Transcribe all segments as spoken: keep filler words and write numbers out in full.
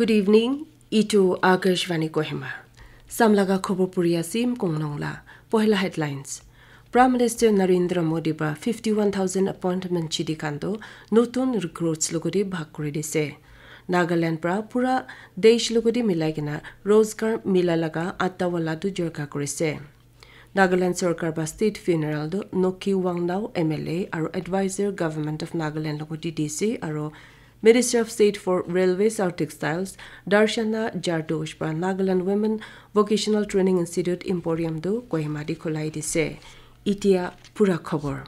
Good evening. Itu Akashvani Kohima. Samlaga khobor puri asim kongnong la. Pohila headlines. Prime Minister Narendra Modi ba fifty-one thousand appointment chidi khan do notun recruits logodi bhag kuri dise. Nagaland pra pura desh logodi milai kena Rozgar Mila laga atta wala du jorka kurise. Nagaland Sorkar ba state funeral do Nokhi Wangnao M L A aro advisor Government of Nagaland logodi D C aro Minister of State for Railways aro Textiles Darshana Jardosh pra Nagaland Women Vocational Training Institute Emporium do Kohima di khulai dise. Itia pura khobor.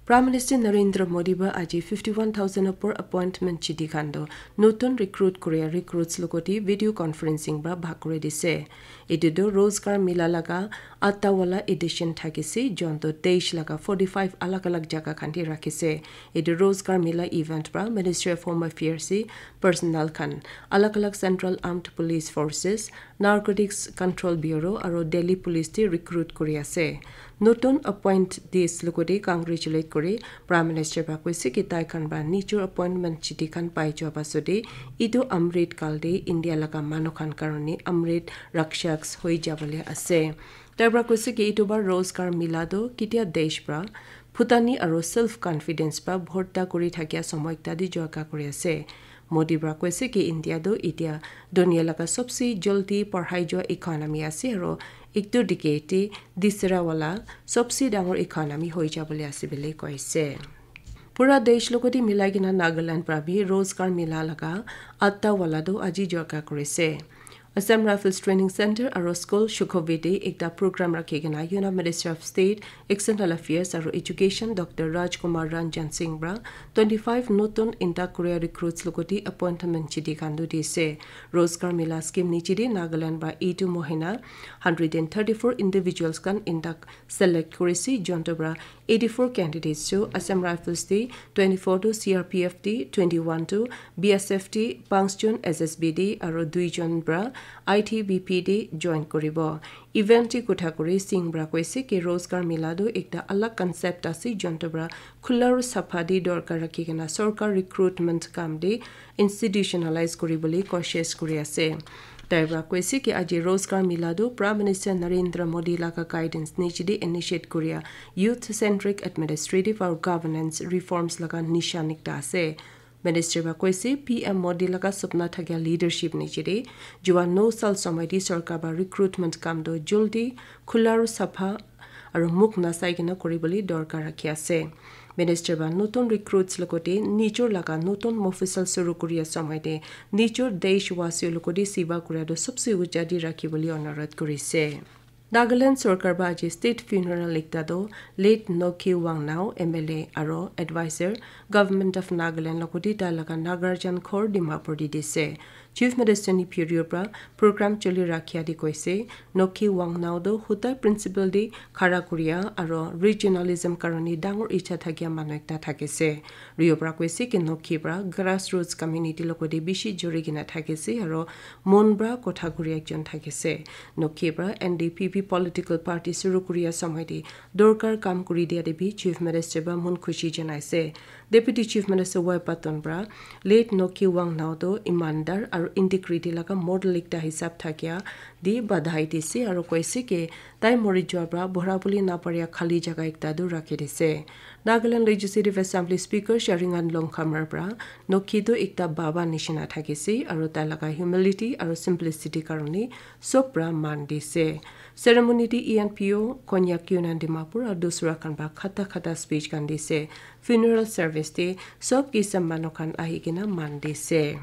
Prime Minister Narendra Modi ba aji fifty-one thousand opor appointment chidi khan do notun recruit korea recruits logoti video conferencing ba bhag kuri dise. Etu do Rozgar Mila laga atta wala edition thakise, jonto desh laga forty-five alag alag jaga khan te rakhise. Etu Rozgar Mila event pra Ministry of Home Affairs se personnel khan, alag alag Central Armed Police Forces, Narcotics Control Bureau aro Delhi Police te recruit kuri ase. Notun appointees logoti congratulate kuri Prime Minister pra koise ki tai khan pra nijor appointment chidi khan pai jua pasode etu Amrit kal te India laga manu khan karone Amrit Rakshaks hoi jabole ase. Tai pra koise ki etu bar Rozgar Mila do kitia desh pra phutani aro self confidence pra bhorta kuri thakia somoy ekta di jorka kuri ase. Modi pra koise ki India do itia dunia laga sobse jaldi parhai jua economy ase aro ektu decade te disra wala sobse dangor economy hoi jabole ase bole koise. Pura desh logoti milai kena Nagaland pra bi Rozgar Mila laga atta wala do aji jorka kurise. Assam Rifles Training Center aro School Shukhoviti ekta program rakhi kena Union Minister of State, External Affairs aro Education Doctor Rajkumar Ranjan Singh pra twenty-five notun inta korea recruits logoti appointment chidi khan do dise. Rozgar Mila scheme nichidi Nagaland pra eighty mohina hundred and thirty-four individuals khan inta select kurise, jonto pra eighty-four candidates to Assam Rifles te twenty-four to C R P F te twenty-one to B S F te panchjon S S B te aro duijon pra I T B P te join kuribo. Event te kotha kuri Singh pra koise ki Rozgar Mila do ekta alag concept ase, jonto pra khula aro sapha te dorkar rakhi kena sorkar recruitment kam te institutionalize kuribole koshish kuri ase. Tai pra koise ki aji Rozgar Mila do Prime Minister Narendra Modi laga guidance nichidi initiate kuria youth centric administrative aro governance reforms laga nishan ekta ase. Minister pra koise P M Modi laga sapna thakia leadership nichidi jua no sal somoy di sorkar ba recruitment kam do jaldi khula aro sapha aro mukh nasai kena kuribole dorkar rakhi ase. Minister ba notun recruits logote nijor laga notun mofusal suru kuria somoy te nijor deshwasi logote seva kuria do sobse uja di rakhibole onurodh kurise. Nagaland sorkar ba aji state funeral ekta do late Nokhi Wangnao M L A aro advisor Government of Nagaland logote tai laga Nagarjan khor Dimapur di dise. Chief Minister Neiphiu Rio pra program choli rakhia di koise, Nokhi Wangnao do hutai principle di khara kuria aro regionalism karone dangor icha thakia manu ekta thakise. Rio pra koise ki Nokhi pra grassroots community logote bishi juri kena thakise aro mon pra kotha kuri ekjon thakise. Nokhi pra N D P P political party suru kuria somoy te dorkar kam kuri dia te bi Chief Minister pra mon khushi janaise. Deputy Chief Minister Y Patton pra late Nokhi Wangnao do imandar aro integrity laga model ekta hisab thakia di badhai dise aro koise ki tai mori jua pra bhora bole naparia khali jaga ekta do rakhi dise. Nagaland Legislative Assembly Speaker Sharingan Longkhamar pra Nokhi do ekta baba nishina thakise aro tai laga humility aro simplicity karone sob pra man dise. Ceremony te E N P O, Konyak Union Dimapur aro dusra khan pra khata khata speech khan dise. Funeral service te sob kisam manu khan ahi kena man dise.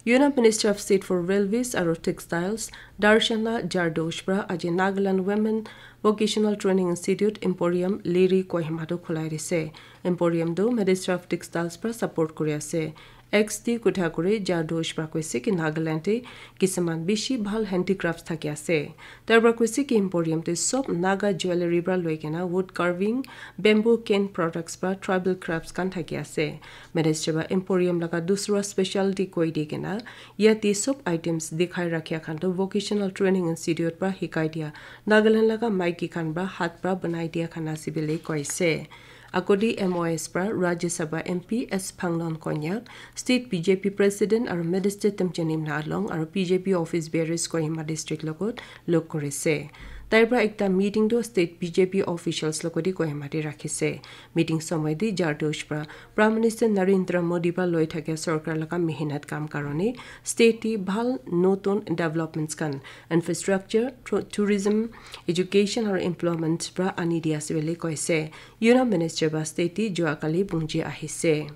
Union Minister of State for Railways aro Textiles, Darshana Jardosh pra aji Nagaland Women Vocational Training Institute Emporium Liri Kohima do khulai dise. Emporium do Minister of Textiles pra support kuri ase. X D kotha kuri Jardosh pra koise ki Nagaland te kisaman bishi bhal handicrafts thaki ase. Tai pra koise ki Emporium te sob Naga jewellery pra loi kena wood carving, bamboo cane products pra tribal crafts khan thaki ase. Minister pra Emporium laga dusra specialty koi di kena yate sob items dikhai rakhia khan to Vocational Training Institute pra hikai dia Nagaland laga maiki khan pra hat pra banai dia khan ase bole koise. Agodi M O S pra Rajya Sabha M P S Phangnon Konyak, State B J P President aru Minister Temchenimna Along aru B J P office bearers Kohima District logot log korise. Tai pra ekta meeting tu State B J P officials logoti Kohima te rakhise. Meeting somoy te Jardhosh pra Prime Minister Narendra Modi pra loi thakia sorkar laga mehnat kam karone state te bhal notun developments khan, infrastructure, tru- tourism, education aru employment pra ani dia ase bole koise. Union Minister ba state te jua kali bungji ahise.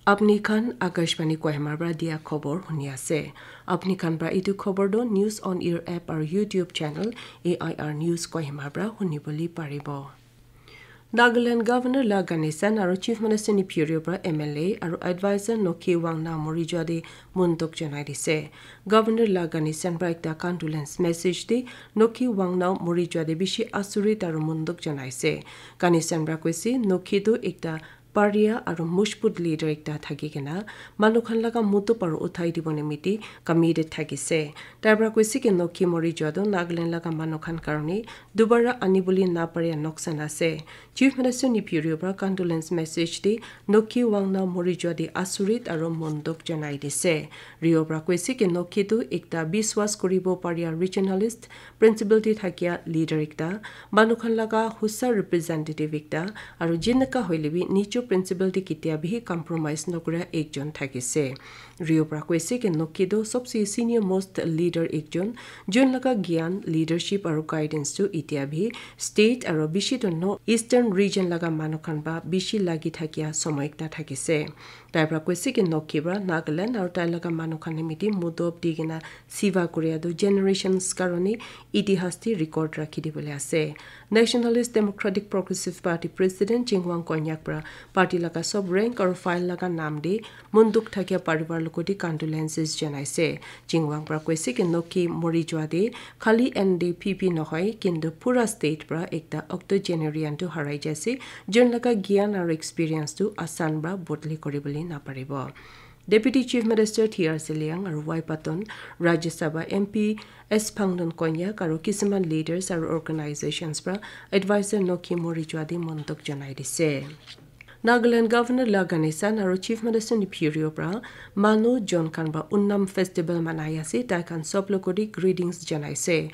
Apni khan Akashvani Kohima pra dia khobor huni ase. Apni khan pra itu khobor do News on Air app aru YouTube channel A I R News Kohima pra huni bole paribo. Nagaland Governor La Ganesan aru Chief Minister Neiphiu Rio pra M L A aru Advisor Nokhi Wangnao mori jua de monduk janai dise. Governor La Ganesan pra ekta condolence message de Nokhi Wangnao mori jua de bishi asurit aru monduk janai se. Ganesan pra koise Nokhi tu ekta paria aru mojbut leader ekta thaki kena manu khan laga mutu paru uthai dibo nimiti committed thakise. Tai pra koise ki Nokhi mori jua tu Nagaland laga manu khan karone dubara ani bole na paria noksan ase. Chief Minister Neiphiu Rio pra condolence message de Nokhi Wangnao mori jua de asurit aru monduk janai dise. Rio pra koise ki Nokhi tu ekta biswas kuribo paria regionalist, principle te thakia leader ekta, manu khan laga husa representative ekta, aru jinaka hoile bi nijo principle te ketia bi compromise nokura ekjon thakise. Rio pra koise ki Nokhi tu sobse senior most leader ekjon, jun laga gyan, leadership aru guidance tu itia bi state aru bishi tu no eastern region laga manu khan ba bishi lagi thakia somoy ekta thakise. Tai pra koise ki Nokhi pra Nagaland aru tai laga manu khan nimiti mudop di kena siva kuria tu generations karone itihas te record rakhi dibole ase. Nationalist Democratic Progressive Party President Chingwang Konyak pra party laga sob rank aru file laga nam de monduk thakia parivar logoti condolences janaise. Chingwang pra koise ki Nokhi mori jua de khali N D P P nohoi kintu pura state pra ekta octogenarian tu harai jaise. Jun laga gyan aru experience tu asan pra bodli kori bole na paribo. Deputy Chief Minister T R Zeliang aru Y Patton, Rajya Sabha M P S Phangnon Konyak aru kisuman leaders aru organizations pra advisor Nokhi mori jua de monduk janai dise. Nagaland Governor La Ganesan aru Chief Minister Neiphiu Rio pra manu jon khan pra Onam festival manai ase, tai khan sob logoti greetings janaise.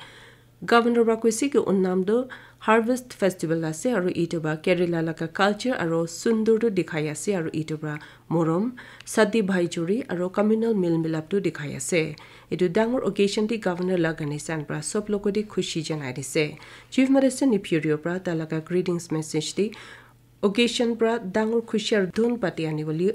Governor pra koise ki Onam tu harvest festival ase aru itu pra Kerala laga culture aru sundur tu dikhai ase aru itu pra morom, sati bhai churi aru communal mil milap tu dikhai ase. Itu dangor occasion te Governor La Ganesan pra sob logoti khushi janai dise. Chief Minister Neiphiu Rio pra tai laga greetings message te occasion pra dangor khushi aru dhun pati ani bole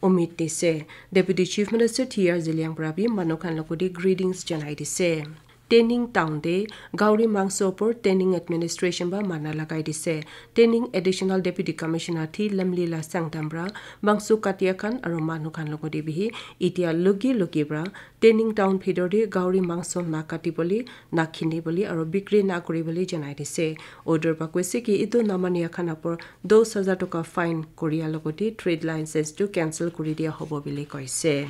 umid dise. Deputy Chief Minister T R Zeliang pra bi manu khan logoti greetings janai dise. Tening town te Gauri Mangso opor Tening administration ba mana lagai dise. Tening Additional Deputy Commissioner T Lamlila Sangtam pra mangso katia khan aru manu khan logoti bihi itia lugi lugi pra Tening town bhitor te Gauri Mangso na kati bole, na khini bole aru bikri na kori bole janai dise. Order pra koise ki itu na mania khan opor dos hajar toka fine koria logoti trade license tu cancel kori dia hobo bole koise.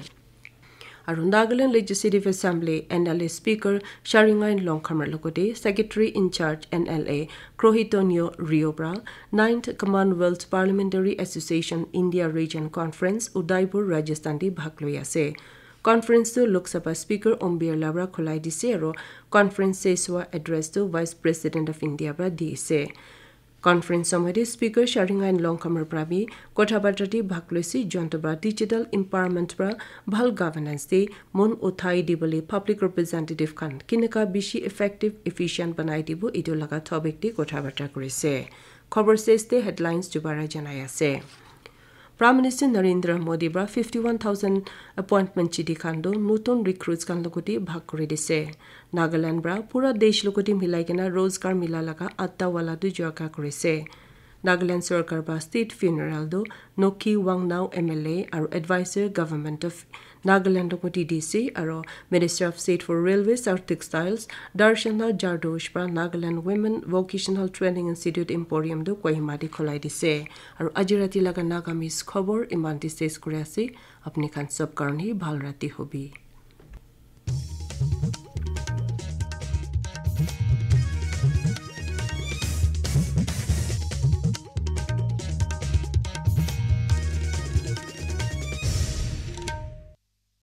Aru Nagaland Legislative Assembly N L A Speaker Sharingain Longkhamar logoti Secretary in Charge N L A Krohitonyo Rio pra Ninth Commonwealth Parliamentary Association India Region Conference Udaipur Rajasthan te bhag loi ase. Conference tu Lok Sabha Speaker Om Birla pra khulai dise aru conference seswa address tu Vice President of India pra di ase. Conference somoy te Speaker Sharingain Longkhamar pra bi kotha barta te bhag loise, jonto pra digital empowerment pra bhal governance te mon uthai dibole public representative khan kineka bishi effective efficient banai dibo itu laga topic te kotha barta korise. Khobor ses te headlines dubara janai ase. Prime Minister Narendra Modi pra fifty one thousand appointment chidi khan tu notun recruits khan logoti bhag kori dise. Nagaland pra pura desh logoti milai kena Rozgar Mela laga atta wala tu jua ka korise. Nagaland sorkar pra state funeral tu Nokhi Wangnao M L A aru advisor government of Nagaland logoti D C aru Minister of State for Railways aru Textiles Darshana Jardhosh pra Nagaland Women Vocational Training Institute Emporium tu Kohima te khulai dise. Aru aji rati laga Nagamese khobor iman te ses kuri ase. Apni khan sob karone bhal rati hobi.